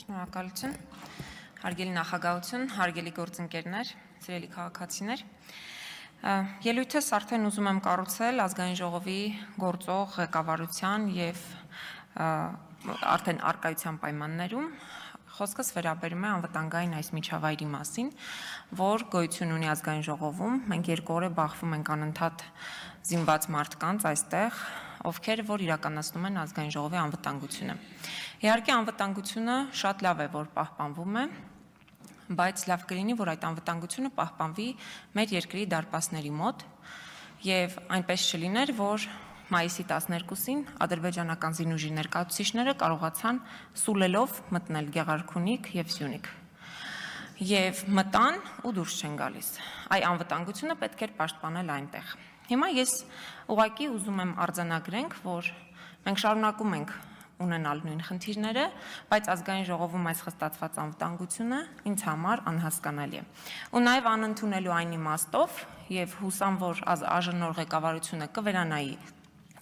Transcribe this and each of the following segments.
Շնորհակալություն, հարգելի նախագահություն, հարգելի գործընկերներ, սիրելի քաղաքացիներ։ Ելույթս արդեն ուզում եմ կառուցել ազգային ժողովի գործող ղեկավարության եւ արդեն արկայության պայմաններում։ Խոսքս վերաբերում է անվտանգային այս միջավայրի մասին, որ գոյություն ունի ազգային ժողովում։ Մենք երկու օր է բախվում ենք անընդհատ զինված մարդկանց այստեղ, ովքեր որ իրականացնում են ազգային ժողովի անվտանգությունը։ Իհարկե անվտանգությունը շատ լավ է, որ պահպանվում է, բայց լավ կլինի, որ այդ անվտանգությունը պահպանվի մեր երկրի դարպասների մոտ եւ այնպես չլիներ, որ մայիսի 12-ին ադրբեջանական զինուժի ներկայացուցիչները կարողացան սուլելով մտնել Գեղարքունիք եւ Սյունիք։ Եվ մտան ու դուրս չեն գալիս։ Այ անվտանգությունը պետք էր պաշտպանել այնտեղ։ Հիմա ես ուղղակի ուզում եմ արձանագրենք, որ մենք շարունակում ենք ունենալ նույն խնդիրները, բայց ազգային ժողովում այս խստացված անվտանգությունը ինձ համար անհասկանալի է։ Ու նաև անընդունելու այն իմաստով եւ հուսամ, որ ԱԺՆ ղեկավարությունը կվերանայի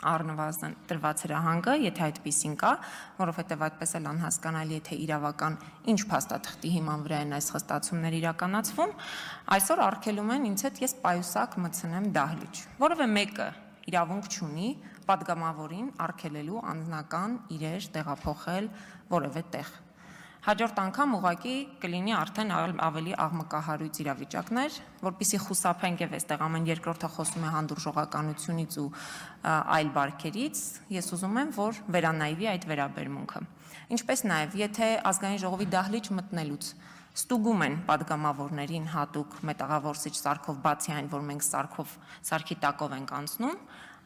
առնվազն տրված հրահանգը, եթե այդպեսին կա, որովհետև այդպես էլ անհասկանալի է, թե իրավական ինչ փաստաթղթի հիման վրա են այս խստացումները իրականացվում, այսօր արգելում են ինձ հետ ես պայուսակ մտցնեմ դահլիճ, որովհետև մեկը իրավունք չունի պատգամավորին արգելելու անձնական իրեր տեղափոխել որևէ տեղ։ Հաջորդ անգամ ուղղակի կլինի արդեն ավելի աղմկահարույց իրավիճակներ, որպեսզի խուսափենք եւ այստեղ ամեն երկրորդը խոսում է հանդուրժողականությունից ու այլ բարքերից, ես ուզում եմ, որ վերանայվի այդ վերաբերմունքը։ Ինչպես նաեւ, եթե ազգային ժողովի դահլիճ մտնելուց ստուգում են պատգամավորներին հատուկ մետաղավորսիչ սարքով, բացի այն, որ մենք սարքի տակով ենք անցնում,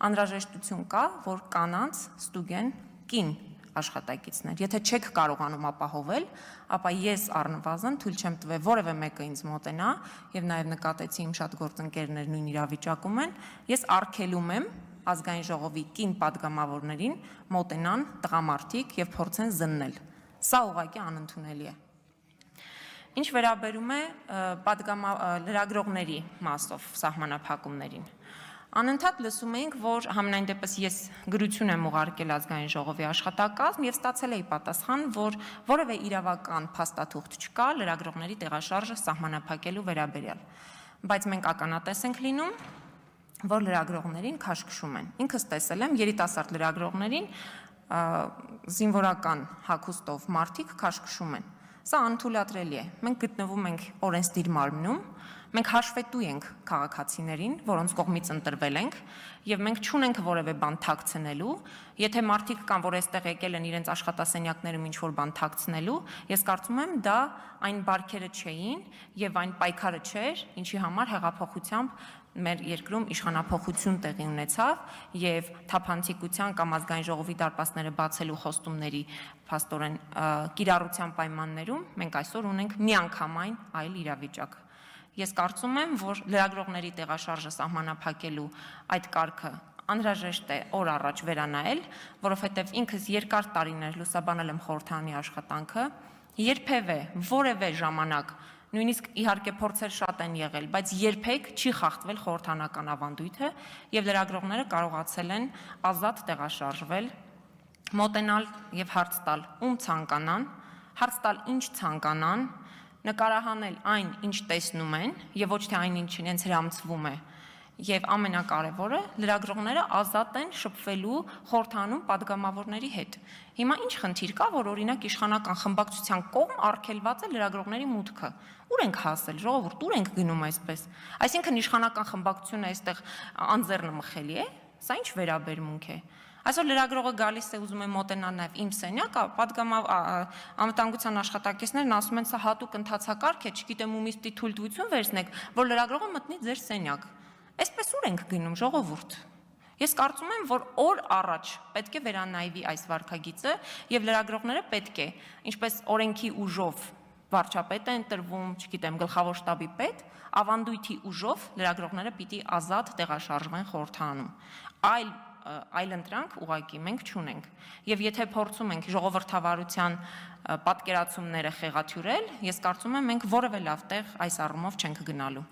անհրաժեշտություն կա, որ կանանց ստուգեն կին աշխատակիցներ։ Եթե չեք կարողանում ապահովել, ապա ես առնվազն թույլ չեմ տվել որևէ մեկը ինձ մոտենա եւ նաեւ նկատեցի իմ շատ գործընկերներ նույն իրավիճակում են, ես արգելում եմ ազգային ժողովի կին պատգամավորներին մոտենան տղամարդիկ եւ փորձեն զննել։ Սա ուղղակի անընդունելի է։ Ինչ վերաբերում է լրագրողների մասով սահմանափակումներին, անընդհատ լսում էինք, որ համենայն դեպս ես գրություն եմ ուղարկել ազգային ժողովի աշխատակազմ եւ ստացել էի պատասխան, որ որևէ իրավական փաստաթուղթ չկա լրագրողների տեղաշարժը սահմանափակելու վերաբերյալ, բայց մենք ականատես ենք լինում, որ լրագրողներին քաշքշում են։ Ինքս տեսել եմ երիտասարդ լրագրողներին զինվորական հագուստով մարդիկ քաշքշում են։ Սա անթույլատրելի է։ Մենք գտնվում ենք օրենսդիր մարմնում, մենք հաշվետու ենք քաղաքացիներին, որոնց կողմից ընտրվել ենք, եւ մենք չունենք որևէ բան թաքցնելու։ Եթե մարդիկ կան, որ այստեղ եկել են իրենց աշխատասենյակներում ինչ-որ բան թաքցնելու, ես կարծում եմ դա այն բարքերը չէին եւ այն պայքարը չէր, ինչի համար հեղափոխությամբ մեր երկրում իշխանափոխություն տեղի ունեցավ եւ թափանցիկության կամ ազգային ժողովի դարպասները բացելու խոստումների փաստորեն կիրառության պայմաններում մենք այսօր ունենք միանգամայն այլ իրավիճակ։ Ես կարծում եմ, որ լրագրողների տեղաշարժը սահմանափակելու այդ կարգը անհրաժեշտ է օր առաջ վերանայել, որովհետև ինքս երկար տարիներ լուսաբանել եմ խորհրդարանի աշխատանքը, երբևէ որևէ ժամանակ նույնիսկ իհարկե փորձեր շատ են եղել, բայց երբեք չի խախտվել խորհրդարանական ավանդույթը եւ լրագրողները կարողացել են ազատ տեղաշարժվել, մոտենալ եւ հարց տալ ում ցանկանան, հարց տալ ինչ ցանկանան, նկարահանել այն, ինչ տեսնում են եւ ոչ թե այն, ինչ իրենց հրամցվում է։ Եվ ամենակարևորը լրագրողները ազատ են շփվելու խորհրդանում պատգամավորների հետ։ Հիմա ինչ խնդիր կա, որ օրինակ իշխանական խմբակցության կողմ արգելված է լրագրողների մուտքը։ Ուր ենք հասել, ժողովուրդ, ուր ենք գնում այսպես։ Այսինքն իշխանական խմբակցությունը այստեղ անձեռնմխելի է։ Սա ինչ վերաբերմունք է։ Այսօր լրագրողը գալիս է ուզում է մոտենալ նաև իմ սենյակը, անվտանգության աշխատակիցներն ասում են, սա հատուկ ընթացակարգ է, չգիտեմ ումից թույլտվություն վերցնեք, որ լրագրողը մտնի ձեր սենյակ։ Այսպես ուր ենք գնում, ժողովուրդ։ Ես կարծում եմ, որ օր առաջ պետք է վերանայվի այս վարքագիծը եւ լրագրողները պետք է, ինչպես օրենքի ուժով վարչապետ է ընտրվում, չգիտեմ, գլխավոր շտաբի պետ, ավանդույթի ուժով լրագրողները պիտի ազատ տեղաշարժվեն խորհրդարանում։ Այլ ընտրանք ուղղակի մենք չունենք։ Եվ եթե փորձում ենք ժողովրդավարության պատկերացումները խեղաթյուրել, ես կարծում եմ մենք որևէ լավ տեղ այս առումով չենք գնալու։